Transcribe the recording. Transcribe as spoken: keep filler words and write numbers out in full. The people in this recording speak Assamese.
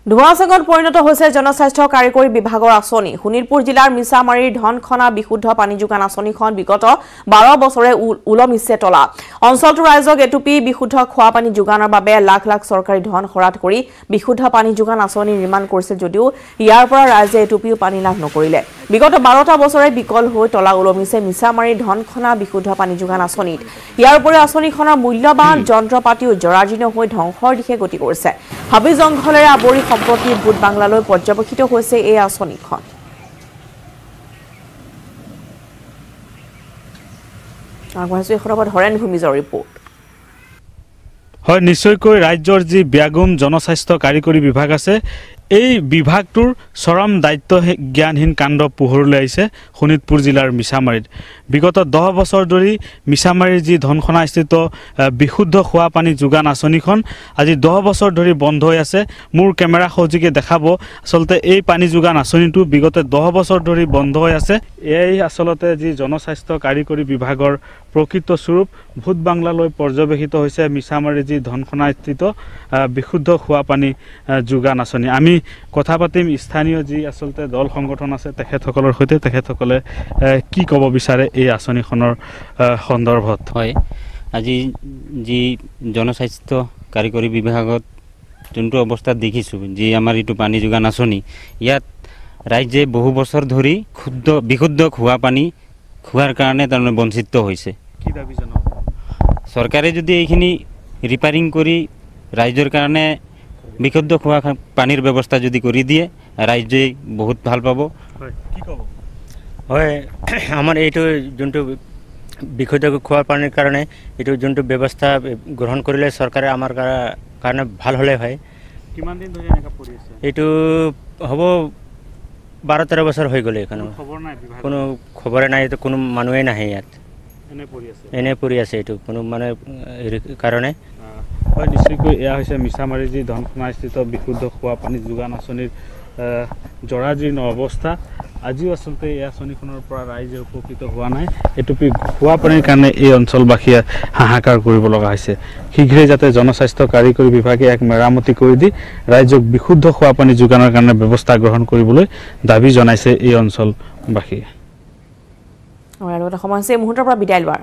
ধোঁৱাচাঙত পৰিণত হৈছে জনস্বাস্থ্য কাৰিকৰী বিভাগৰ আঁচনি। শোণিতপুৰ জিলাৰ মিছামাৰীৰ ধনখনা বিশুদ্ধ পানী যোগান আঁচনিখন বিগত বাৰ বছৰে ওলমিছে তলা। অঞ্চলটোৰ ৰাইজক এটুপি বিশুদ্ধ খোৱা পানী যোগানৰ বাবে লাখ লাখ চৰকাৰী ধন খৰাত কৰি বিশুদ্ধ পানী যোগান আঁচনি নিৰ্মাণ কৰিছিল যদিও ইয়াৰ পৰা ৰাইজে এটুপিও পানী লাভ নকৰিলে। বিগত বাৰটা বছৰে বিকল হৈ তলা ওলমিছে মিছামাৰীৰ ধনখনা বিশুদ্ধ পানী যোগান আঁচনিত। ইয়াৰ উপৰি আঁচনিখনৰ মূল্যৱান যন্ত্ৰপাতিও জৰাজীৰ্ণ হৈ ধ্বংসৰ দিশে গতি কৰিছে। হাবি জংঘলেৰে আৱৰি সম্প্ৰতি ভূত বাংলালৈ পৰ্যবেক্ষিত হৈছে এই আঁচনিখন। আগবাঢ়িছো এই খবৰত হৰেণ ভূমিজৰ ৰিপৰ্ট। হয়, নিশ্চয়কৈ ৰাজ্যৰ যি ব্যাগুম জনস্বাস্থ্য কাৰিকৰী বিভাগ আছে, এই বিভাগটোৰ চৰম দায়িত্ব জ্ঞানহীন কাণ্ড পোহৰলৈ আহিছে শোণিতপুৰ জিলাৰ মিছামাৰীত। বিগত দহ বছৰ ধৰি মিছামাৰীৰ যি ধনখনাস্থিত বিশুদ্ধ খোৱা পানী যোগান আঁচনিখন আজি দহ বছৰ ধৰি বন্ধ হৈ আছে। মোৰ কেমেৰা সহযোগে দেখাব আচলতে এই পানী যোগান আঁচনিটো বিগত দহ বছৰ ধৰি বন্ধ হৈ আছে। এই আচলতে যি জনস্বাস্থ্য কাৰিকৰী বিভাগৰ প্ৰকৃত স্বৰূপ ভূত বাংলালৈ পৰ্যবেক্ষিত হৈছে মিছামাৰীৰ যি ধনখনাস্থিত বিশুদ্ধ খোৱা পানী যোগান আঁচনি। আমি কথা পাতিম স্থানীয় যি আচলতে দল সংগঠন আছে তেখেতসকলৰ সৈতে, তেখেতসকলে কি ক'ব বিচাৰে এই আঁচনিখনৰ সন্দৰ্ভত। হয়, আজি যি জনস্বাস্থ্য কাৰিকৰী বিভাগত যোনটো অৱস্থাত দেখিছোঁ, যি আমাৰ এইটো পানী যোগান আঁচনি, ইয়াত ৰাইজে বহু বছৰ ধৰি শুদ্ধ বিশুদ্ধ খোৱা পানী খোৱাৰ কাৰণে তাৰমানে বঞ্চিত হৈছে। কি দাবী জনাব? চৰকাৰে যদি এইখিনি ৰিপেয়াৰিং কৰি ৰাইজৰ কাৰণে বিশুদ্ধ খোৱা পানীৰ ব্যৱস্থা যদি কৰি দিয়ে, ৰাইজে বহুত ভাল পাব। হয়, কি ক'ব? হয়, আমাৰ এইটো যোনটো বিশুদ্ধ খোৱা পানীৰ কাৰণে এইটো যোনটো ব্যৱস্থা গ্ৰহণ কৰিলে চৰকাৰে আমাৰ কাৰণে ভাল হ'লে হয়। কিমান দিন ধৰি এনেকুৱা পৰি আছে? এইটো হ'ব বাৰ তেৰ বছৰ হৈ গ'ল। এইখন কোনো খবৰে নাই, এইটো কোনো মানুহেই নাহে ইয়াত, এনেই পৰি আছে এইটো কোনো মানে হেৰি কাৰণে। হয়, নিশ্চয়কৈ এয়া হৈছে মিছামাৰী যি ধনখনাস্থিত বিশুদ্ধ খোৱা পানী যোগান আঁচনিৰ জৰাজীৰ্ণ অৱস্থা। আজিও আচলতে এই আঁচনিখনৰ পৰা ৰাইজে উপকৃত হোৱা নাই। এটুপি খোৱা পানীৰ কাৰণে এই অঞ্চলবাসীয়ে হাহাকাৰ কৰিব লগা হৈছে। শীঘ্ৰেই যাতে জনস্বাস্থ্য কাৰিকৰী বিভাগে এক মেৰামতি কৰি দি ৰাইজক বিশুদ্ধ খোৱা পানী যোগানৰ কাৰণে ব্যৱস্থা গ্ৰহণ কৰিবলৈ দাবী জনাইছে এই অঞ্চলবাসীয়ে। আৰু এটা সময় হৈছে এই মুহূৰ্তৰ পৰা বিদায় লোৱাৰ।